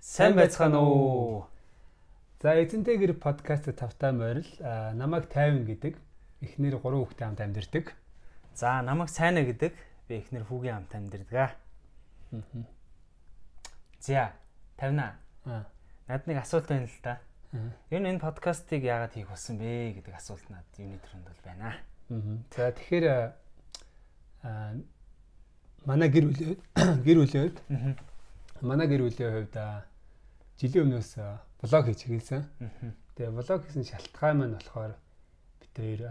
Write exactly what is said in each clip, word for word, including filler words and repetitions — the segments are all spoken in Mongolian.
Сайн байцгаана уу. За эзэнтэй гэр подкаст тавтай морил намайг тайван гэдэг эхнэр гурван хүүхэдтэй хамт амьдардаг. За намайг Сайна гэдэг би эхнэр хүүгийн хамт амьдардаг. За тавина. Аа. Над нэг асуулт байна л да. Ер нь энэ подкастыг яагаад хийх болсон бэ гэдэг асуулт над юуны төрөнд бол байна. За тэгэхээр аа манай гэр бүлийн гэр бүлийн хувьд манай гэр бүлийн хувьд жилийн өмнөөс блог хийж эхэлсэн. Тэгээ блог хийсэн шалтгаан маань болохоор бид хоёр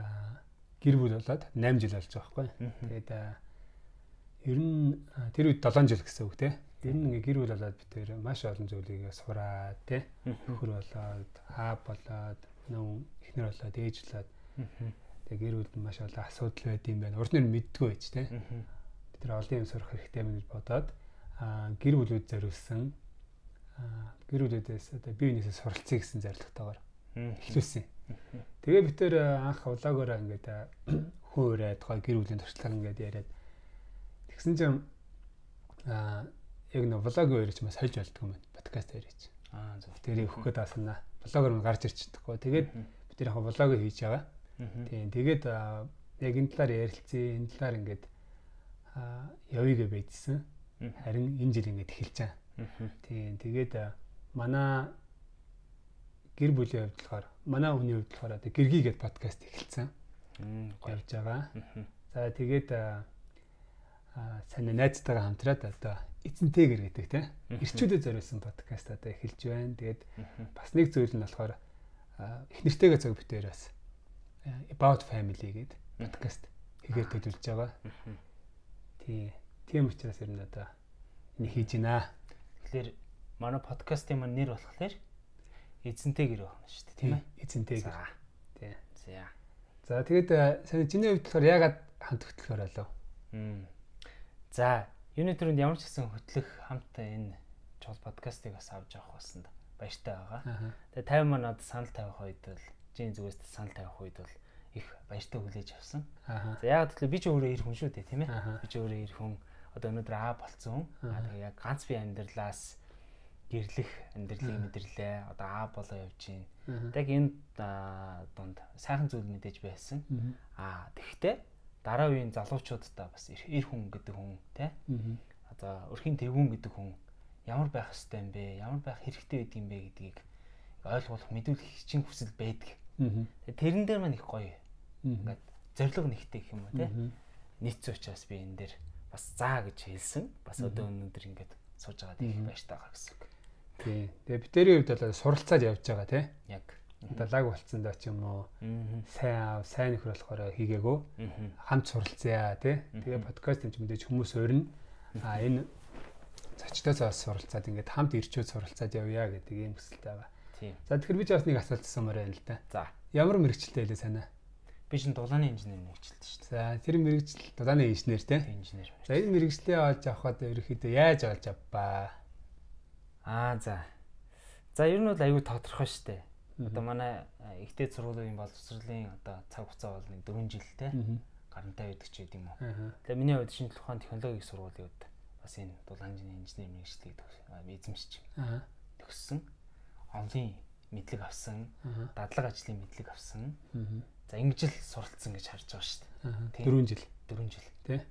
гэр бүл болоод восемь жил болж байгаа байхгүй. Тэгээд ер нь тэр үед seven жил гэсэн үг те. Ер нь ингээ гэр бүл болоод бид хоёр маш олон зүйлийг сураад те. Хөр болоод, аа болоод, нөө эхнэр болоод, ээж болоод. Тэгээ гэр бүлд маш олон асуудал байд юм байна. Урд нь мэддгүй байж те. Бид тэр олон юм сурах хэрэгтэй юм гэж бодоод гэр бүлүүд зориулсан гэр бүлүүдээс одоо бие биенээсээ суралцъя гэсэн зорилготойгоор эхлүүлсэн. Тэгээ бид тэр анх влогоор ингээд хүн өрөөд гой гэр бүлийн туршлага ингээд яриад тэгсэн чинь аа яг нэг влогийн өрөөч маш сольж болдгоо юм подкаст өрөөч. Аа зөв. Тэрийг өгөх гээд асуунаа. Влогоор нь гарч ирчихдэггүй. Тэгээд бид тэр яг влог хийж байгаа. Тийм. Тэгээд яг энэ талаар ярилцъя. Энэ талаар ингээд аа явъя гэж байжсэн. Харин энэ жил ингээд эхэлж байгаа. Тийм. Тэгээд манай гэр бүлийн хувьд болохоор манай хүний хувьд болохоор одоо гэргийгээд подкаст эхэлсэн. Явж байгаа. За тэгээд сайн найзтайгаа хамтраад одоо эзэнтэй гэр гэдэг тийм эрчүүдэд зориулсан подкаст одоо эхэлж байна. Тэгээд бас нэг зүйл нь болохоор эхнэртэйгээ цаг битээрээс About Family гэдэг подкаст хийгээд төлөвлөж байгаа. Тийм. Тийм учраас ер нь одоо энэ хийж байна. Тэгэхээр манай подкастын маань нэр болохоор эзэнтэй гэр байна шүү дээ, тийм ээ? Эзэнтэй гэр. Тийм. За. За тэгээд сайн чиний хувьд болохоор яагаад хамт хөтлөхөр болов? За, юуны төрөнд ямар ч гэсэн хөтлөх хамт энэ чул подкастыг бас авч явах болсон да. Баяртай байгаа. Тэгээд тайван маань одоо санал тавих үед бол жин зүгээс санал тавих үед бол их баяртай хүлээж авсан. За яагаад гэвэл би ч өөрөө ир хүн шүү дээ, тийм ээ? Би ч өөрөө ир хүн. Одоо өнөөдөр аа болцсон. Аа тэгээ яг ганц би амьдралаас гэрлэх амьдралыг мэдэрлээ. Одоо аа болоо явж байна. Яг энэ дунд сайхан зүйл мэдээж байсан. Аа тэгвэл дараа үеийн залуучуудаа бас ир хүн гэдэг хүн тий. Одоо өрхийн тэргүүн гэдэг хүн ямар байх ёстой юм бэ? Ямар байх хэрэгтэй байдаг юм бэ гэдгийг ойлгуулах мэдүүлэх хичээн хүсэл байдаг. Тэгээ тэрэн дээр маань их гоё. Ингээд зориг нэгтэй гэх юм уу тий. Нийцсэн учраас би энэ дээр бас заа гэж хэлсэн. Бас одоо өнөөдөр ингээд сууж байгаа их баяртай байгаа гэсэн үг. Тий. Тэгээ битэрийн хувьд бол суралцаад явж байгаа тий. Яг. Далайг болцсон доо ч юм уу. Сайн аав, сайн нөхөр болохоор хийгээгөө. Хамт суралцъя тий. Тэгээ подкаст юм ч мэдээж хүмүүс өрнө. А энэ зочдоос суралцаад ингээд хамт ирчүүд суралцаад явъя гэдэг ийм хүсэлтэй байгаа. Тий. За тэгэхээр би ч бас нэг асуулт асуумаар байна л да. За. Ямар мэрэгчлээ хэлээ санаа? Би чинь дулааны инженер мэрэгчлээ шүү дээ. За тэр мэрэгжил дулааны инженер тий. Инженер. За энэ мэрэгжлээ олж авахад ерөөхдөө яаж олж авбаа? Аа за. За ер нь бол аюу тодорхой шүү дээ. Одоо манай ихтэй сургуулийн боловсролын одоо цаг хугацаа бол нэг four жил тий. Гарантай байдаг ч гэдэм юм уу. Тэгээ миний хувьд шинжлэх ухааны технологийн сургуулийн хувьд бас энэ дулааны инженер мэрэгчлийг эзэмшиж төгссөн. Онлын мэдлэг авсан, дадлаг ажлын мэдлэг авсан. За ингэж л суралцсан гэж харж байгаа шүү дээ. four жил. four жил тий.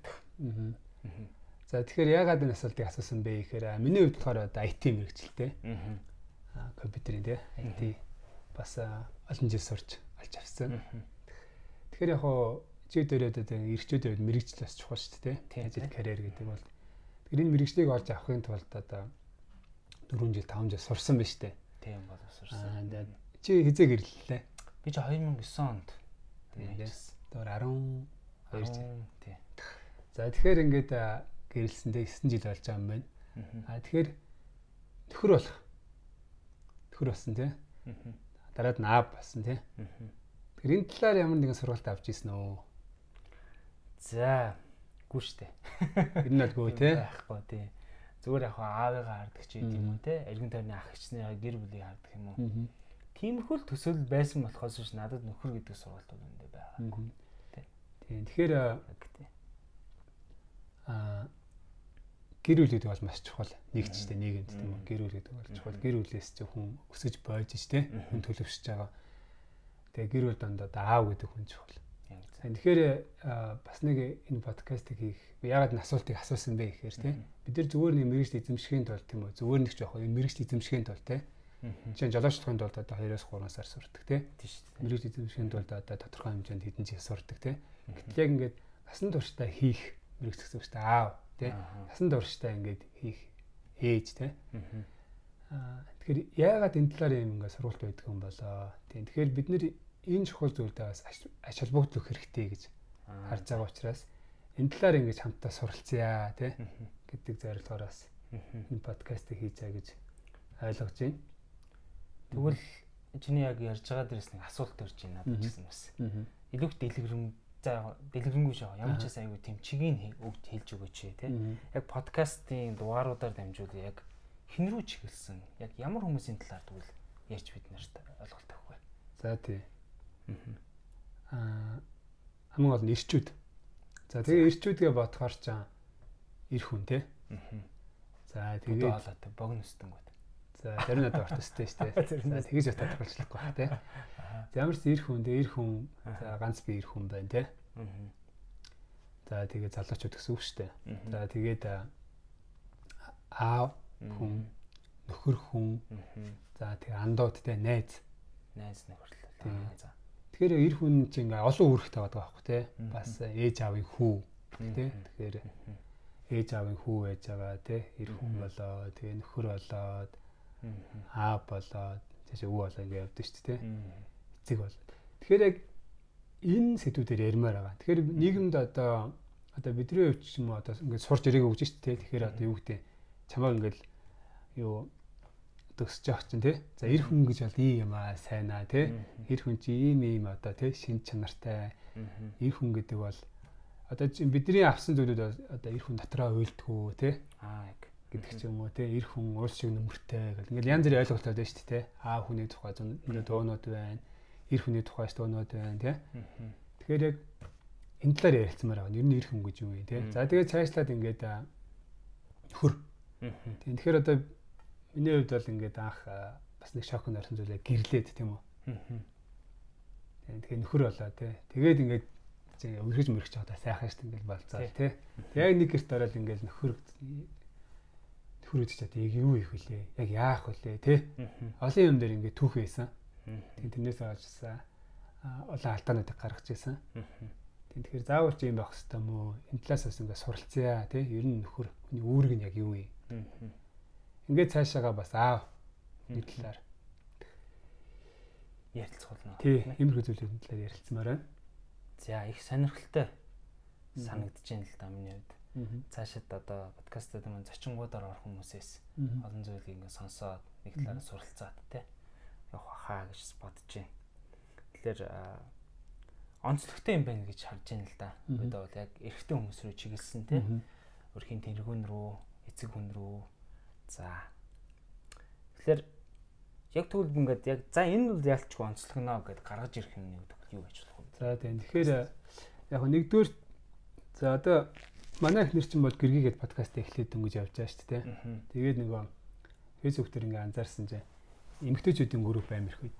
За тэгэхээр яагаад энэ асуултыг асуусан бэ гэхээр миний хувьд болохоор одоо ай ти мэрэгчлээ. Аа компьютерийн тий. ай ти бас олон жил сурч алж авсан. Тэгэхээр яг хоо чи дөрөөд одоо эрчүүдийн хувьд мэрэгжил бас чухал шүү дээ тий. Ажил карьер гэдэг бол. Тэгэхээр энэ мэрэгжлийг олж авахын тулд одоо four жил five жил сурсан байна шүү дээ. Тийм боловсрсан. Аа чи хизээ гэрлэлээ? Би чи two thousand nine онд тэгээс door twelve жил. Тий. За тэгэхээр ингээд гэрэлсэндээ nine жил болж байгаа юм байна. Аа тэгэхээр төхөр болох. Төхөр болсон тий. Дараад нь аав болсон тий. Тэгэхээр энэ талаар ямар нэгэн сургалт авч ийсэн үү? За гүү штэ. Энэ нь бол гүү тий. Байхгүй тий. Зүгээр яг аавыгаа хардаг ч юм уу тий. Эргэн тойрны ах эгчнийгаа гэр бүлийг хардаг юм уу? Тиймэрхүү л төсөөлөл байсан болохоос ш надад нөхөр гэдэг сургалтууд өндөө байгаа. Тийм. Тэгэхээр аа гэр бүл гэдэг бол маш чухал нэг ч тэ нийгэмд тийм үү гэр бүл гэдэг бол чухал гэр бүлээс ч хүн өсөж бойж ч тэ хүн төлөвшөж байгаа. Тэгээ гэр бүл дондоо аав гэдэг хүн чухал. Тэгэхээр бас нэг энэ подкастыг хийх яагаад н асуултыг асуусан бэ гэхээр тэ бид нар зүгээр нэг мэрэгжил эзэмшихийн тулд тийм үү зүгээр нэг ч яг энэ мэрэгжил эзэмшихийн тулд тэ чинь жолоочдохын тулд одоо хоёроос гурван сар сурдаг тэ мэрэгжил эзэмшихийн тулд одоо тодорхой хэмжээнд хэдэн жил сурдаг тэ гэтэл яг ингээд насан туршдаа хийх мэрэгжил гэсэн үг шүү дээ аав тэ насан туршдаа ингээд хийх ээж тэ аа тэгэхээр яагаад энэ талаар юм ингээд сургалт байдаг юм болоо тийм тэгэхээр бид нэр энэ чухал зүйлдээс ач холбогдох хэрэгтэй гэж харж байгаа учраас энэ талаар ингэж хамтдаа суралцъя тий гэдэг зорилгоороос энэ подкастыг хийж байгаа гэж ойлгож байна. Тэгвэл чиний яг ярьж байгаа дээрээс нэг асуулт төрж байна надад ч гэсэн бас. Илүүх дэлгэрэн за дэлгэрэнгүй шаа ямар ч айгүй тийм чигийг өгд хэлж өгөөч тий. Яг подкастын дугааруудаар дамжуул яг хэн рүү чиглэсэн яг ямар хүмүүсийн талаар тэгвэл ярьж бид нарт ойлголт авах вэ? За тий. Аа хамгийн гол нь ирчүүд. За тэгээ ирчүүдгээ бодохоор ч ир хүн тий. За тэгээ хоолойтой богино өсдөнгүүд. За зарим надад орт өстэй шүү дээ. За тэгэж утаа тохиолчлахгүй бах тий. Ямар ч ир хүн дээ ир хүн за ганц би ир хүн байна тий. За тэгээ залуучууд гэсэн үг шүү дээ. За тэгээд аав хүн нөхөр хүн за тэгээ андууд тий найз найз нөхөрлөл. За тэгэхээр ир хүн чинь ингээ олон үүрэгтэй байдаг байхгүй тий. Бас ээж аавын хүү тий. Тэгэхээр ээж аавын хүү байж байгаа тий. Ир хүн болоо тэгээ нөхөр болоод аав болоод тийш өвөө болоо ингээ явдаг шүү дээ тий. Эцэг болоод. Тэгэхээр яг энэ сэдвүүдээр ярмаар байгаа. Тэгэхээр нийгэмд одоо одоо бидний хувьд ч юм уу одоо ингээ сурч ирээг өгч шүү дээ тий. Тэгэхээр одоо юу гэдэг чамаа ингээл юу төгсөж явах чинь тий. За ир хүн гэж бол ийм юм аа сайн аа тий. Ир хүн чи ийм ийм одоо тий шин чанартай. Ир хүн гэдэг бол одоо бидний авсан зүйлүүд одоо ир хүн дотроо уйлдгүү тий. Аа яг гэдэг ч юм уу тий. Ир хүн уул шиг нөмөртэй гэл ингээл янз бүрийн ойлголтууд байна шүү дээ тий. Аа хүний тухай зөндөө дуунууд байна. Ир хүний тухай дуунууд байна тий. Тэгэхээр яг энэ талаар ярилцмаар байгаа. Ер нь ир хүн гэж юу вэ тий. За тэгээд цаашлаад ингээд нөхөр. Тэгэхээр одоо миний хувьд бол ингээд анх бас нэг шокнд орсон зүйлээ гэрлээд тийм үү. Тэгэхээр нөхөр болоо тий. Тэгээд ингээд өргөж мөргөж байгаа сайхан шүү дээ ингээд болцоо тий. Яг нэг гэрт ороод ингээд нөхөр нөхөр үдчих чад яг юу их вүлээ. Яг яах вүлээ тий. Олон юм дээр ингээд түүх байсан. Тийм тэрнээс олжсан. Олон алдаануудыг гаргаж ирсэн. Тийм тэгэхээр заавал ч юм байх хэрэгтэй мó. Энэ талаас бас ингээд суралцъя тий. Ер нь нөхөр хүний үүрэг нь яг юу вэ? Ингээд цаашаага бас аав нэг талаар ярилцах болно. Тий, иймэрхүү зүйлүүдийн талаар ярилцмаар байна. За их сонирхолтой санагдаж байна л да миний хувьд. Цаашид одоо подкастад маань зочингуудаар орох хүмүүсээс олон зүйлийг ингээд сонсоод нэг талаараа суралцаад тий явах хаа гэж бодож байна. Тэгэхээр онцлогтой юм байна гэж харж байна л да. Бид бол яг эрэгтэй хүмүүс рүү чиглэсэн тий өрхийн тэргүүн рүү, эцэг хүн рүү. За. Тэгэхээр яг тэгвэл ингээд яг за энэ бол ялчгүй онцлогноо гэдээ гаргаж ирэх юм нэг юу гэж болох вэ? За тийм. Тэгэхээр яг нэгдүгээр за одоо манай их нэр чинь бол гэргийгээд подкаст эхлээд дөнгөж явж байгаа шүү дээ. Тэгээд нөгөө Facebook дээр ингээд анзаарсан чинь эмэгтэйчүүдийн групп амирх үед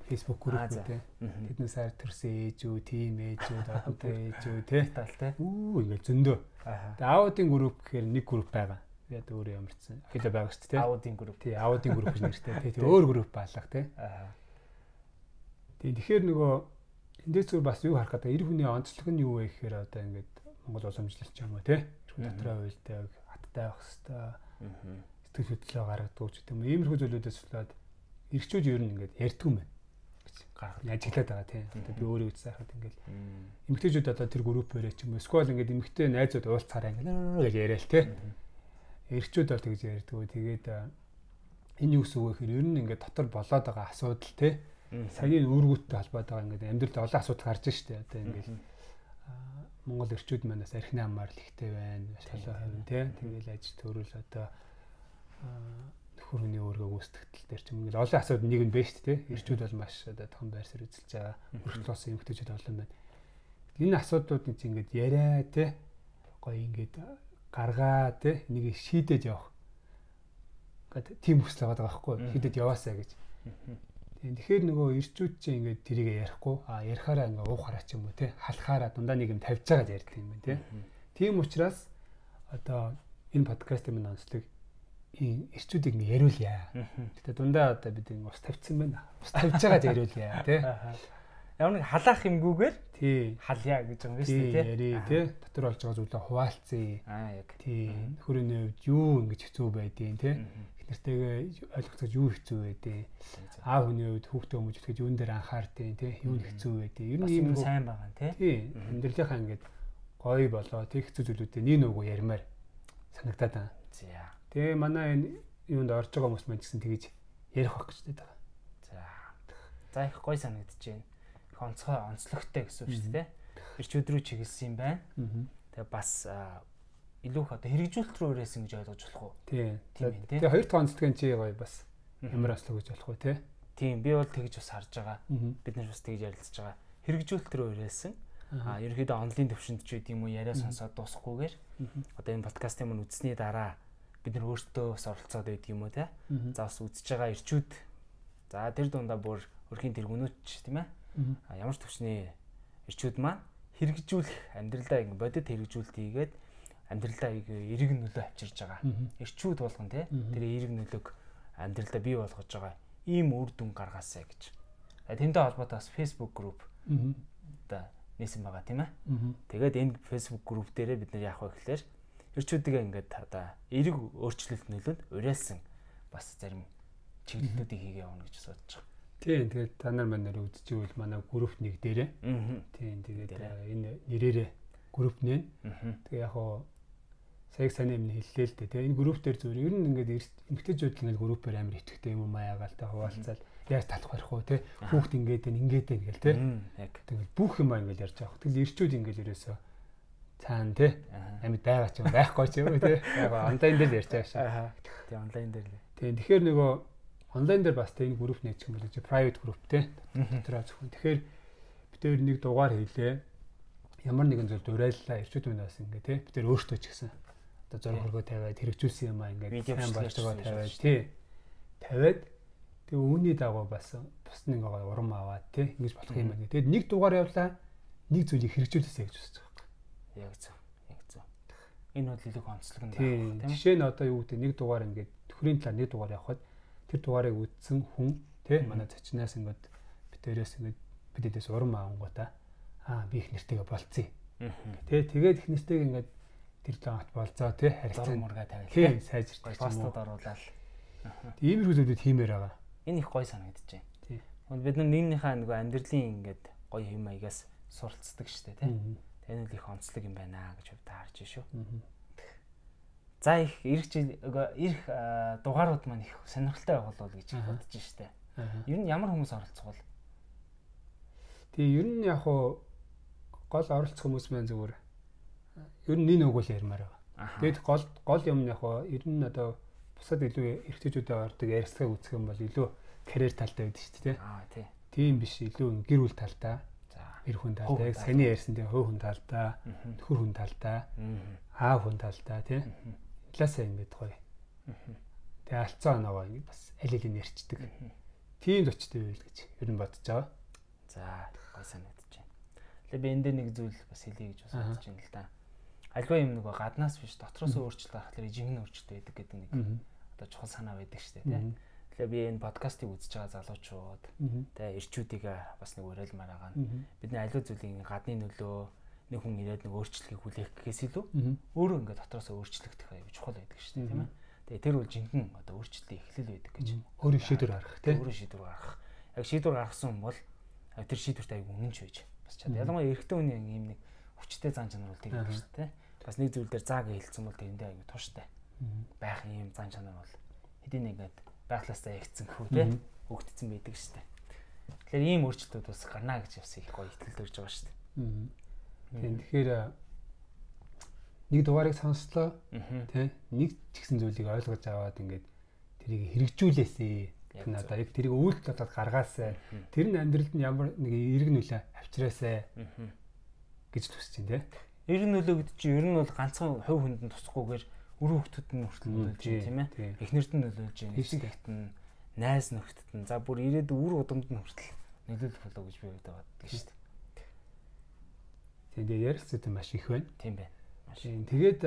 Facebook групп үү. Тэдний сар төрсөн ээжүү, тим ээжүүд, одонтой ээжүү тий. Тал тий. Үу ингээд зөндөө. Тэгээд аудын групп гэхээр нэг групп байгаа. Тэгээд өөрөө ямарчсан. Хэлээ байгаа шүү дээ. Аудын групп. Тий, аудын групп гэж нэртэй. Тий, өөр групп баалах тий. Аа. Тий, тэгэхээр нөгөө эндээс зүгээр бас юу харах гэдэг эр хүний онцлог нь юу вэ гэхээр одоо ингээд Монгол уламжлалч юм уу тий. Эр хүн дотроо уйлдаг, хаттай байх хэвээр. Аа. Сэтгэл хөдлөлөө гаргадаг ч гэдэг юм. Иймэрхүү зүйлүүдээс болоод эрчүүд ер нь ингээд ярьдгүй юм байна. Гаргах ажиглаад байгаа тий. Одоо би өөрөө үзсайхад ингээд эмэгтэйчүүд одоо тэр группээрээ ч юм уу сквал ингээд эмэгтэй найзууд уулзахаараа ингээд гэж яриа л тий. Эрчүүд бол тэгж ярьдаг. Тэгээд энэ юу гэсэн үг вэ гэхээр ер нь ингээд дотор болоод байгаа асуудал тий. Саяын үүргүүттэй холбоотой байгаа ингээд амьдралд олон асуудал гарч штэ. Одоо ингээд Монгол эрчүүд манаас архины амаар л ихтэй байна. Шалаа хавь тий. Тэгээл ажил төрөл одоо нөхөрний өөргөө гүйцэтгэл дээр ч юм ингээд олон асуудал нэг нь бэ штэ тий. Эрчүүд бол маш одоо том байрсаар эзэлж байгаа. Хүртэл бас эмэгтэйчүүд олон байна. Энэ асуудлуудын чинь ингээд яриа тий. Гоё ингээд гаргаа тий энийг шийдэж явах. Ингээд тийм хүсэл байгаа байхгүй шийдэж яваасаа гэж. Тэгэхээр нөгөө ирчүүд чинь ингээд тэрийг ярихгүй а ярихаараа ингээд уухаараа ч юм уу тий халахаараа дундаа нэг юм тавьж байгаа ярьдаг юм байна тий. Тийм учраас одоо энэ подкастын минь онцлог ирчүүдийг нэг яриулъя. Гэтэ дундаа одоо бид ус тавьчихсан байна. Ус тавьж байгаа яриулъя тий. Ямар нэг халаах юмгүйгээр тий халъя гэж юм биш үү тий. Яри тий дотор болж байгаа зүйлээ хуваалцъя. Аа яг тий хөрөний хувьд юу ингэж хэцүү байдیں۔ Тий нэртэйгээ ойлгоцож юу хэцүү байдیں۔ Аав хүний хувьд хүүхдээ өмж итгэж юун дээр анхаардیں۔ Тий юу хэцүү байдیں۔ Ер нь ийм сайн байгаа тий. Тий амьдралынхаа ингээд гоё болоо тий хэцүү зүйлүүдээ нэг нүгөө ярмаар санагдаад байна. За. Тэгээ манай энэ юунд орж байгаа хүмүүс маань гэсэн тэгэж ярих байх гэж байна. За. За их гоё санагдаж байна. Их онцгой онцлогтой гэсэн үг шүү дээ. Ирчүүд рүү чиглэсэн юм байна. Тэгээ бас илүү их одоо хэрэгжүүлэлт рүү өрөөсөн гэж ойлгож болох уу? Тийм. Тэгээ хоёр дахь онцлог нь чи гоё бас ямар онцлог гэж болох вэ те? Тийм би бол тэгж бас харж байгаа. Бид нар бас тэгж ярилцж байгаа. Хэрэгжүүлэлт рүү өрөөсөн. Аа ерөнхийдөө онлайн төвшөнд ч үгүй юм уу яриа сонсоод дуусахгүйгээр одоо энэ подкастын мань үзсний дараа бид нар өөртөө бас оролцоод байдаг юм уу те? За бас үзэж байгаа ирчүүд за тэр дундаа бүр өрхийн тэргүүнүүч тийм ээ. А ямар ч төвчний ирчүүд маань хэрэгжүүлэх амьдралдаа ингэ бодит хэрэгжүүлэлт хийгээд амьдралдаа эерэг нөлөө авчирж байгаа. Ирчүүд болгон те тэр эерэг нөлөөг амьдралдаа бий болгож байгаа ийм үр дүн гаргаасаа гэж. Тэнтэй холбоотой бас Facebook group одоо нээсэн байгаа тийм ээ. Тэгээд энэ Facebook group дээрээ бид нар яах вэ гэхээр ирчүүдээ ингээд одоо эерэг өөрчлөлт нөлөөнд уриалсан бас зарим чиглэлүүдийг хийгээ явна гэж бодож байгаа. Тийм тэгээд та нар маань нэр үзчихвэл манай групп нэг дээрээ. Тийм тэгээд энэ нэрээрээ групп нэ. Тэгээ яг хоо сая сайн юм хэллээ л дээ. Тэгээ энэ групп дээр зүгээр ер нь ингээд эмгтээчүүд л ингээд группээр амар итгэвтэй юм маяагаал та хуваалцаад яаж талах барих уу те хүүхд ингээд энэ ингээд энэ гэл те. Яг тэгээд бүх юм ингээд ярьж байгаа. Тэгэл ирчүүд ингээд ерөөсөө цаана те амьд байгаа ч юм байхгүй ч юм те. Яг онлайн дээр ярьж байгаа шээ. Тэгээ онлайн дээр л. Тийм тэгэхээр нөгөө онлайн дээр бас тэ энэ групп нээчих юм бол чи private group те дотроо зөвхөн. Тэгэхээр бид тэр нэг дугаар хийлээ. Ямар нэгэн зүйл дуурайллаа ирчүүд минь бас ингээ те бид тэр өөртөө ч гэсэн одоо зураг хөргөө тавиад хэрэгжүүлсэн юм аа ингээ сайн болж байгаа тавиад тий тавиад тэгээ үүний дагуу бас бус нэг гоё урам аваад те ингэж болох юм байна. Тэгээд нэг дугаар явлаа нэг зүйлийг хэрэгжүүлээсэй гэж үзэж байгаа юм. Яг зөв. Яг зөв. Энэ бол илүү онцлог юм байна тийм. Жишээ нь одоо юу гэдэг нэг дугаар ингээ төхрийн талаар нэг дугаар явахад тэр дугаарыг үзсэн хүн тий манай зочноос ингээд битээрээс ингээд бидэдээс урам аавангуудаа аа би их нэртэйгээ болцъё. Тий тэгээд их нэртэйг ингээд тэр таамт болцоо тий харилцаа мургаа тавиал. Тий сайжирч постод оруулаад. Иймэрхүү зүйлүүд хиймээр байгаа. Энэ их гоё санагдаж байна. Тий. Бид нар нэгнийхээ нөгөө амьдралын ингээд гоё хэм маягаас суралцдаг штэ тий. Энэ л их онцлог юм байна гэж хувьд харж шүү. За их ирэх жил ирэх дугаарууд маань их сонирхолтой байгуулвал гэж бодож штэ. Ер нь ямар хүмүүс оролцох вэ? Тэгээ ер нь яг хуу гол оролцох хүмүүс маань зүгээр ер нь нэг нүгэл ярмаар байгаа. Тэгэд гол гол юм нь яг хуу ер нь одоо бусад илүү эрхтэйчүүдэд ордог ярилцлага үүсгэх юм бол илүү карьер талтай байдаг шүү дээ. Аа тий. Тийм биш илүү гэр бүл талтай. За эр хүн талтай, яг саний ярьсан тийм хөө хүн талтай, төхөр хүн талтай, аав хүн талтай тий. Талаасаа ингэж гоё. Тэгээ алцаа оноогоо ингэ бас аль алийг ярьцдаг. Тийм зочтой байл гэж ер нь бодож байгаа. За гоё санагдаж байна. Тэгээ би энэ дээр нэг зүйл бас хэлье гэж бас бодож байна л да. Альва юм нөгөө гаднаас биш дотроос өөрчлөлт гаргахлаар жинхэнэ өөрчлөлт байдаг гэдэг нэг одоо чухал санаа байдаг шүү дээ тий. Тэгэхээр би энэ подкастыг үзэж байгаа залуучууд тэгээ ирчүүдийг бас нэг уриалмаар байгаа нь бидний аливаа зүйлийн гадны нөлөө нэг хүн ирээд нэг өөрчлөлтийг хүлээх гэхээс илүү өөрөө ингээд дотроос өөрчлөгдөх аюу чухал байдаг шүү дээ тийм ээ. Тэгээ тэр бол жинхэнэ одоо өөрчлөлтийн эхлэл байдаг гэж өөрөө шийдвэр гаргах тий. Өөрөө шийдвэр гаргах. Яг шийдвэр гаргасан хүн бол тэр шийдвэрт аюу үнэнч байж бас чад. Ялангуяа эрэгтэй хүний ийм нэг хүчтэй зан чанар бол тэгдэг шүү дээ. Бас нэг зүйл дээр зааг хэлсэн бол тэрэндээ аюу тууштай байх ийм зан чанар бол хэдийн нэгэд байглаасаа ягцсан хөө тий хөгдсөн байдаг шүү дээ. Тэгэхээр ийм өөрчлөлтүүд бас гарна гэж бас их гоё итгэл төрж байгаа шүү дээ. Тийм тэгэхээр нэг дугаарыг сонслоо тий нэг ч гэсэн зүйлийг ойлгож аваад ингээд тэрийг хэрэгжүүлээсэй. Тэр нь одоо яг тэрийг үйлдэл болоод гаргаасай. Тэр нь амьдралд нь ямар нэг эерэг нөлөө авчираасай гэж төсөж чинь тий. Ер нь нөлөө гэдэг чинь ер нь бол ганцхан хувь хүнд нь тусахгүйгээр үр хөвгтөд нь хүртэл нөлөөлж байна тийм ээ. Эхнэрд нь нөлөөлж байна. Эцэгт нь, найз нөхдөд нь. За бүр ирээд үр удамд нь хүртэл нөлөөлөх болов гэж би боддог шүү дээ. Тэгээд ярилцсан юм маш их байна. Тийм байна. Маш. Тэгээд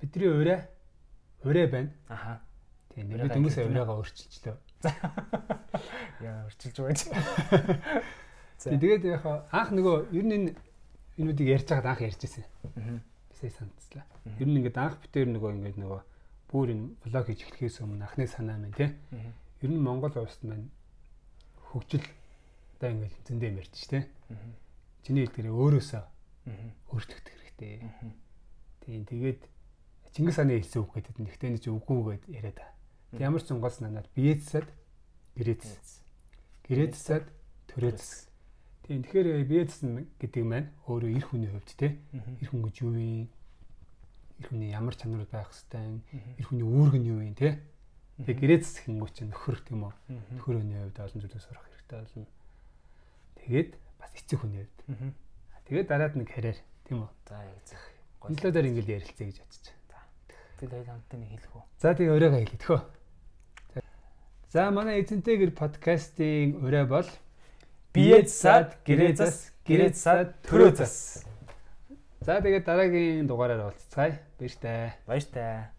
бидний ураа ураа байна. Аха. Тийм бид хүмүүсээ ураагаа өөрчилчлөө. Яа өөрчилж байгаа. Тэгээд яг анх нөгөө ер нь энэ энүүдийг ярьж байгаад анх ярьжсэн. Аа. Бисээ санацлаа. Ер нь ингээд анх битээр нөгөө ингээд нөгөө бүр энэ блог хийж эхлэхээс өмнө анхны санаа маань тий. Ер нь Монгол улсад маань хөгжил одоо ингээд зөндөө юм ярьж ш тий. Чиний хэлдгэрээ өөрөөсөө өөрчлөгдөх хэрэгтэй. Тийм тэгээд Чингис хааны хэлсэн үг гэдэг нь ихтэй нэг үгүй гэд яриад та. Ямар ч зунгаас надад биецсад гэрээцс. Гэрээцсад төрөөцс. Тийм тэгэхээр биецс гэдэг маань өөрөө эр хүний хувьд те эр хүн гэж юу вэ? Эр хүний ямар чанар байх хэвтэй, эр хүний үүрэг нь юу вэ те? Тэгээ гэрээцс хэнгүү чинь нөхөр тийм үү? Нөхөрөний хувьд олон зүйлээс сурах хэрэгтэй болно. Тэгээд бас эцэг хүний хувьд. Тэгээд дараад нэг хараар тийм үү? За яг зах. Гонлоодоор ингэж ярилцъя гэж бодчих. Тэгээд хамтаа нэг хэлэх үү. За тэгээ урайгаа хэлээ тхөө. За манай эзэнтэй гэр подкастын урай бол биецсад гэрээцс гэрээцсад төрөөцс. За тэгээд дараагийн дугаараар уулзцгаая. Баяр таа. Баяр таа.